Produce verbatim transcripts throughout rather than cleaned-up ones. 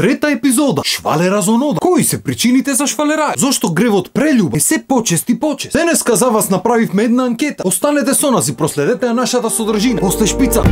Трета епизода. Швалера за онода. Кои се причините за швалерај? Зошто гревот прелюбов е се почест и почест? Денеска за вас направивме една анкета. Останете со нас и проследете ја нашата содржина. После шпица.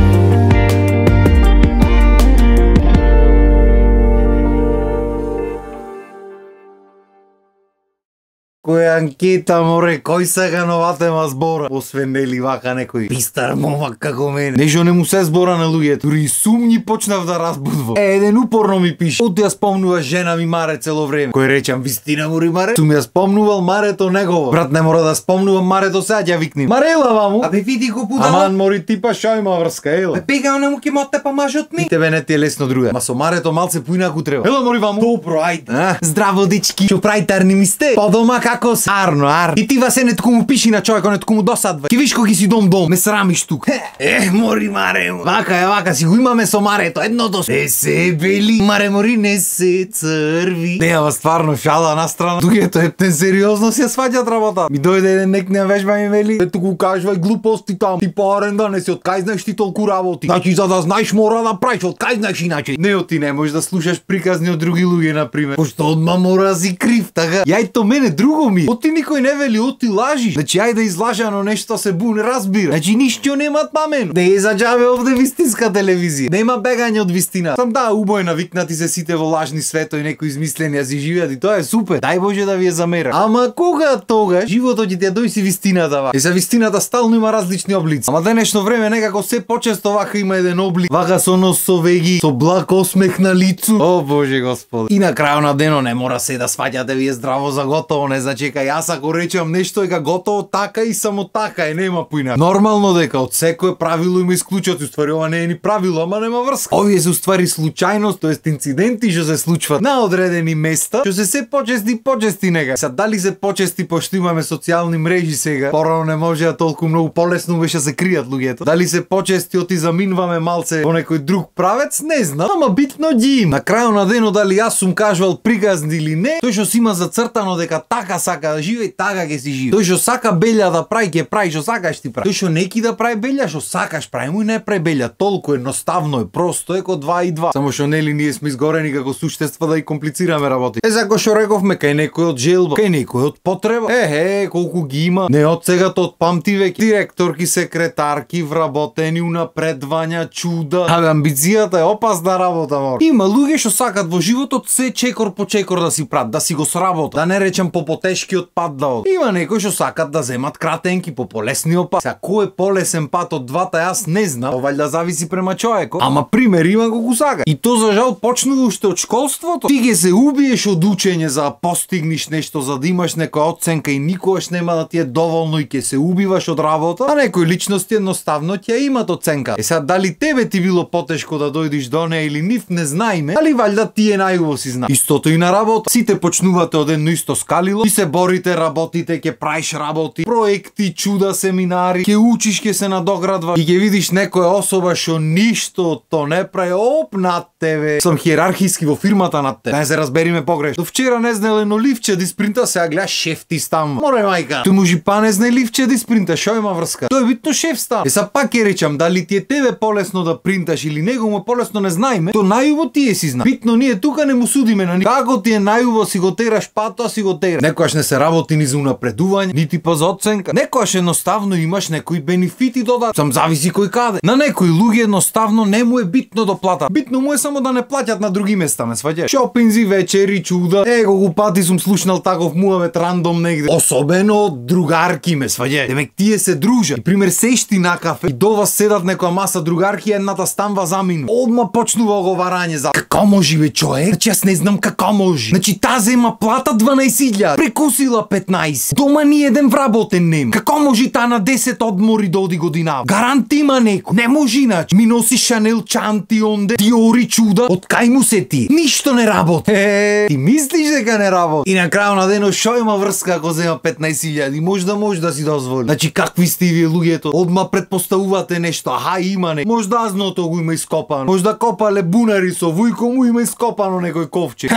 Која анкета, море, кој сега нова тема збора? Освен нели вака некој пистар момак како мене. Нешто не му се збора на луѓето. Дури сумњи почнав да разбудвам. Е, еден упорно ми пише. Од ја спомнува жена ми Маре цело време. Кој речам, вистина мори Маре? Сум ја спомнувал Марето негово. Брат, не мора да спомнувам Марето, сега ќе викнем. Марела, ваму. Абе види го будала. Аман мори типа шо има врска, ела. Бе бега не му ке мотте па мажот ми. И тебе не ти е лесно друга. Ма со Марето малце поинаку треба. Ела мори ваму. Добро, ајде. А? Здраво дечки. Што прајтарни ми сте? По дома како се? Арно, арно. И ти васе нетко му пиши на човекот, нетко му досадва. Ки виш кој си дом дом, ме срамиш тук. Е, мори Маре. Вака е, вака си го имаме со Марето, едното. Не се бели, Маре мори не се црви. Не, ама стварно шала на страна. Дугето ептен сериозно си ја сваќат работа. Ми дојде еден нек не вежба ми вели. Ето го кажувај глупости там. Ти по аренда не си, од кај знаеш ти толку работи. Значи за да знаеш мора да правиш, од кај знаеш иначе. Не, од ти не можеш да слушаш приказни од други луѓе на пример. Пошто одма мора да си крив, така. Јај то мене друго ми. Од ти никој не вели, од ти лажиш. Значи ајде да излажано нешто се бу не разбира. Значи ништо нема памен. Не е за џабе овде вистинска телевизија. Нема бегање од вистина. Сам да убој навикнати се сите во лажни светови, некои измислени ја си живеат и тоа е супер. Дај Боже да ви е замера. Ама кога тогаш животот ќе ти ја дојси вистината ва. И за вистината стално има различни облици. Ама денешно време некако се почесто вака има еден облик. Вака со нос со веги, со благ осмех на лицу. О Боже Господи. И на крајот на денот не мора се да сваќате вие здраво за готово, не значи кај јас ако речам нешто е готово така и само така е, нема поина. Нормално дека од секое правило има исклучоци, уствари ова не е ни правило, ама нема врска. Овие се уствари случајност, тоест инциденти што се случваат на одредени места, што се се почести почести нега. Са дали се почести пошто имаме социјални мрежи сега, порано не можеа толку многу полесно беше се кријат луѓето. Дали се почести оти заминуваме малце во некој друг правец, не знам, ама битно ги има. На крајот на денот дали јас сум кажувал приказни или не, тој што си има зацртано дека така сака да живее, така ќе си живее. Тој што сака белја да прави, ќе прави што сакаш ти прави. Тој што неки да прави белја, што сакаш прави, му и не прави белја. Толку едноставно е, просто е ко два и два. Само што нели ние сме изгорени како суштества да и комплицираме работи. Е, за кој што рековме, кај некој од желба, кај некој од потреба. Е, е, колку ги има. Не од сега од памти веќе. Директорки, секретарки, вработени, унапредвања, чуда. Абе, амбицијата е опасна работа, мор. Има луѓе што сакат во животот се чекор по чекор да си прат, да си го сработат. Да не речам по потешкиот пат да од. Има некои што сакат да земат кратенки по полесниот пат. Сега кој е полесен пат од двата јас не знам. Ова да зависи према човекот. Ама пример има колку сака. И то за жал почнува уште од школството. Ти ќе се убиеш од учење за да постигнеш нешто, за да имаш некоја оценка и никогаш нема да ти е доволно и ќе се убиваш од работа. А некои личности едноставно ќе имат оценка. Е сега дали тебе ти било потешко да дојдеш до неа или нив не знаеме, али валјда ти е најубаво си знае. Истото и на работа. Сите почнувате од едно исто скалило и се борите, работите, ќе правиш работи, проекти, чуда, семинари, ќе учиш, ќе се надоградваш и ќе видиш некоја особа што ништо то не прави, оп над тебе. Сам хиерархиски во фирмата над тебе. Да не се разбериме погрешно. До вчера не знае едно ливче да испринта, сега гледаш шеф ти стам. Море мајка. Тој може па не знае ливче да испринта, шо има врска? Тој е битно шеф стам. Е са пак ќе речам, дали ти е тебе полесно да принташ или него му е полесно не знаеме, то најубаво ти е си зна. Битно ние тука не му судиме на никого. Како ти е најубаво си го тераш пато, си го тераш. Некојаш не се работи ни за унапредување, нити па за оценка. Некојаш едноставно имаш некои бенефити додат. Сам зависи кој каде. На некои луѓе едноставно не му е битно да платат. Битно му е само да не плаќат на други места, ме сваќаш. Шопинзи, вечери, чуда. Е, колку пати сум слушнал таков муавет рандом негде. Особено од другарки, ме сваќаш. Демек тие се дружат. И пример сешти на кафе и до вас седат некоја маса другарки, едната станва замину. Одма почнува оговарање за како може бе човек? Значи јас не знам како може. Значи таа зема плата дванаесет илјади, прекусила петнаесет. Дома ни еден вработен нема. Како може таа на десет одмори да оди година? Гарант има некој. Не може иначе. Ми носи Шанел чанти онде, Диори чуда. Од кај му се ти? Ништо не работи. Е, ти мислиш дека не работи? И на крајот на денот шо има врска ако зема петнаесет илјади? Може да може да си дозволи. Значи какви сте вие луѓето? Одма предпоставувате нешто. Аха, има не. Може да азното го има ископано. Може да копале бунари со вујко му има ископано некој ковчег.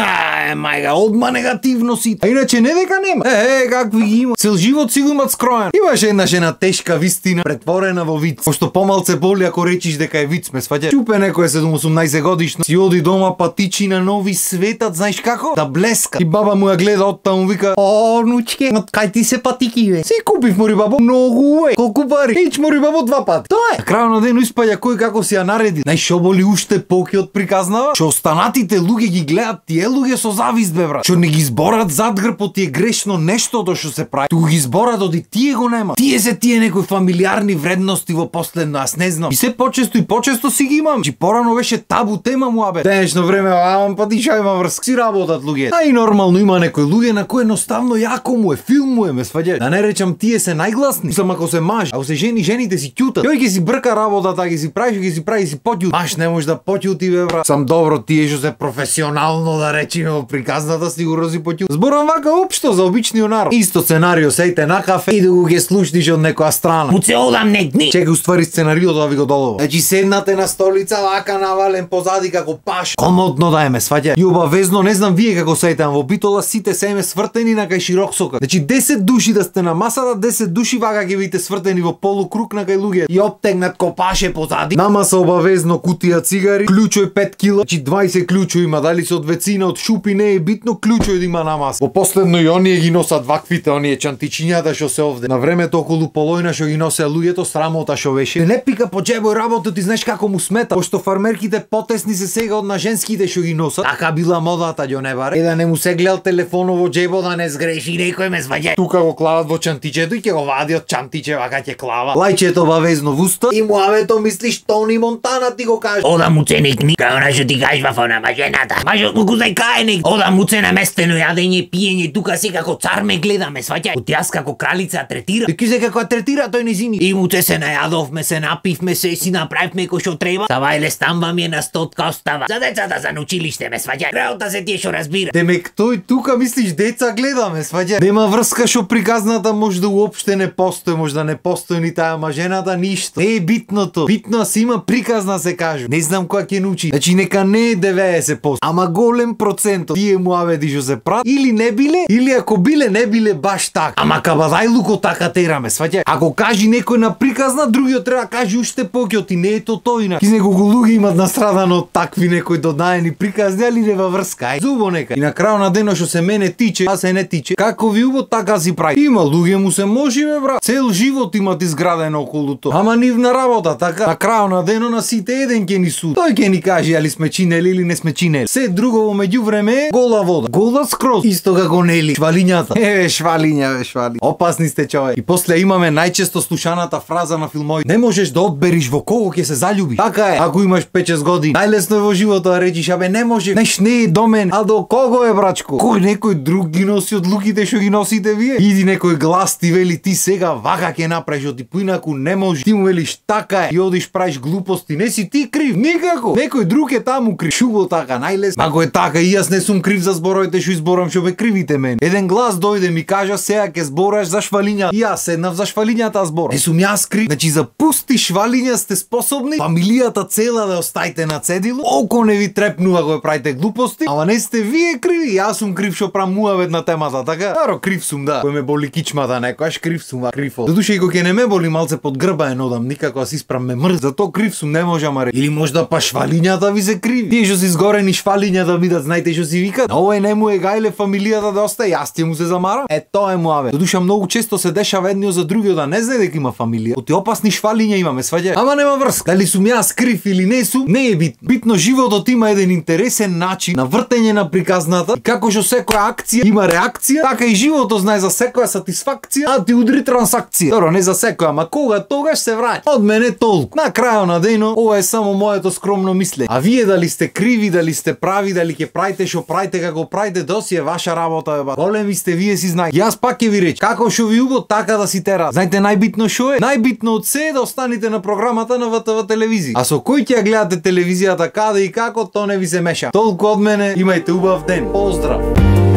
е мајга, одма негативно си. А иначе не дека нема. Е, е, какви ги има. Цел живот си го имат скроен. Имаше една жена тешка вистина, претворена во виц. Пошто помалце боли ако речиш дека е виц, ме сваќаш. Чупе некој седум-осумнаесет годишно, си оди дома патичи на нови светат, знаеш како? Да блеска. И баба му ја гледа оттаму, му вика: "О, нучке, од кај ти се патики бе?" Си купив мори бабо, многу е. Колку пари? Ич мори бабо два пати. Тоа е. На крајот на ден испаѓа кој како си ја нареди. Знаеш шо боли уште поки од приказнава? Што останатите луѓе ги гледат тие луѓе со завист бе брат. Што не ги зборат зад грбот ти е грешно нештото што се прави. Туку ги зборат оди тие го нема. Тие се тие некои фамилиарни вредности во последно, аз не знам. И се почесто и почесто си ги имам. Чи порано беше табу тема муабет. Денешно време, а па ти ша има врска, си работат луѓе. А и нормално има некои луѓе на кои едноставно јако му е, филм му е, ме сваѓаш. Да не речам тие се најгласни. Сам ако се маж, ако се жени, жените си ќутат. Јој ќе си брка работата, ќе си прави, ќе си прави си поќут. Маш не може да поќути бе брат. Сам добро тие што се професионално да речеме во приказната сигурно си поќут. Зборам вака општо за обичниот народ. Исто сценарио сејте на кафе и да го ќе слушниш од некоја страна. Му се одам негни. Чека уствари сценариото да ви го долова. Значи седнате на столица вака навален позади како паш. Комодно да е ме сваќа. И обавезно не знам вие како сејте, во Битола сите се еме свртени на кај широк сокак. Значи десет души да сте на масата, десет души вака ќе видите свртени во полукруг на кај луѓе. И оптегнат копаше позади. Нама се обавезно кутија цигари, клучој пет кила, значи дваесет клучои има, дали се од вецина, од шупи, не е битно, клучој да има на маса. Во последно и оние ги носат ваквите, оние чантичињата што се овде. На времето околу полојна што ги носеа луѓето, срамота што беше. Не пика по џебој работа, ти знаеш како му смета, пошто фармерките потесни се сега од на женските што ги носат. Така била модата, ѓо не баре. Е да не му се гледал телефонот во џебо да не сгреши некој ме сваѓа. Тука го клават во чантичето и ќе го вади од чантиче вака ќе клава. Лајчето бавезно в уста и муавето мислиш Тони Монтана ти го каже. Ода му ценик ни, кај она што ти кажва фона мажената. Мажот му кузај каеник. Ода му це наместено јадење, пиење, тука си како цар ме гледаме, сваќај. Од јас како кралица третира. Ти кизе како третира тој низини. И му це се најадовме, се напивме, се си направивме кој што треба. Савајле стамба ми е на стотка остава. За децата за училиште ме сваќај. Работа се тие што разбира. Демек тој тука мислиш деца гледаме, сваќај. Нема врска што приказната може да уопште не постои, може да не постои ни таа мажената ништо. Не е битното. Битно си има приказна се кажу. Не знам која ќе научи. Значи нека не е деветдесет проценти, ама голем процент од тие муаведи што се прат или не биле, или ако биле не биле баш така. Ама кабадајлуко така тераме, сваќај. Ако кажи некој на приказна, другиот треба кажи уште поќе, и не е то тој. Ки неколку луѓе имат настрадано од такви некои додаени приказни, али не във врска. Ај зубо нека. И на крајот на денот што се мене тиче, а се не тиче. Како ви убо така си прави. Има луѓе му се може бе брат. Цел живот имат изградено околу тоа. Ама нивна работа така. На крајот на денот на сите еден ќе ни суди. Тој ќе ни каже али сме чинели или не сме чинели. Се друго во меѓувреме е гола вода. Гола скроз. Исто како нели швалињата. Еве швалиња, бе швали. Опасни сте човек. И после имаме најчесто слушаната фраза на филмови. Не можеш да одбериш во кого ќе се заљубиш. Така е. Ако имаш пет-шест години, најлесно е во животот да речиш абе не може. Неш не е до мен, а до кого е брачко? Кој некој друг ги носи од луките што ги носите вие? Иди некој глас ти вели ти сега вака ќе направиш, оти поинаку не може. Ти му велиш така е и одиш правиш глупости. Не си ти крив, никако. Некој друг е таму крив. Шубо така најлесно. Ако е така и јас не сум крив за зборовите што изборам што бе кривите мен. Еден глас дојде ми кажа сега ќе збораш за швалиња. И јас седнав за швалињата збор. Не сум јас крив. Значи за пусти швалиња сте способни. Фамилијата цела да остајте на цедило. Око не ви трепнува кога правите глупости. Ама не сте вие криви. Јас сум крив што правам муавет на темата, така? Аро крив сум да. Кој ме боли кичмата некојаш крив сум, крив. Додуше и кога ќе не ме боли малце под грба е нодам, никако да се испрам ме мрз. Зато крив сум, не може ама ре. Или можда па швалињата ви се криви. Тие што си изгорени швалиња да бидат, знаете што си викат? Овој не му е гајле фамилијата да остае, јас ќе му се замарам. Е тоа е муавет. Додуше многу често се дешава едниот за другиот да не знае дека има фамилија. Оти опасни швалиња имаме, сваѓај. Ама нема врска. Дали сум јас крив или не сум, не е битно. Битно животот има еден интересен начин на вртење на приказната. И како што секоја акција има реакција, така и животот знае за секоја сатисфакција, а ти удри трансакција. Добро, не за секоја, ама кога тогаш се враќа. Од мене толку. На крајот на денот, ова е само моето скромно мислење. А вие дали сте криви, дали сте прави, дали ќе правите што правите како правите, доси е ваша работа, бе. Големи сте вие си знаете. Јас пак ќе ви речам, како што ви убо, така да си тера. Знаете најбитно што е? Најбитно од се е да останете на програмата на В Т В телевизија. А со кој ќе ја гледате телевизијата каде и како, то не ви се меша. Толку од мене, имајте убав ден. Поздрав.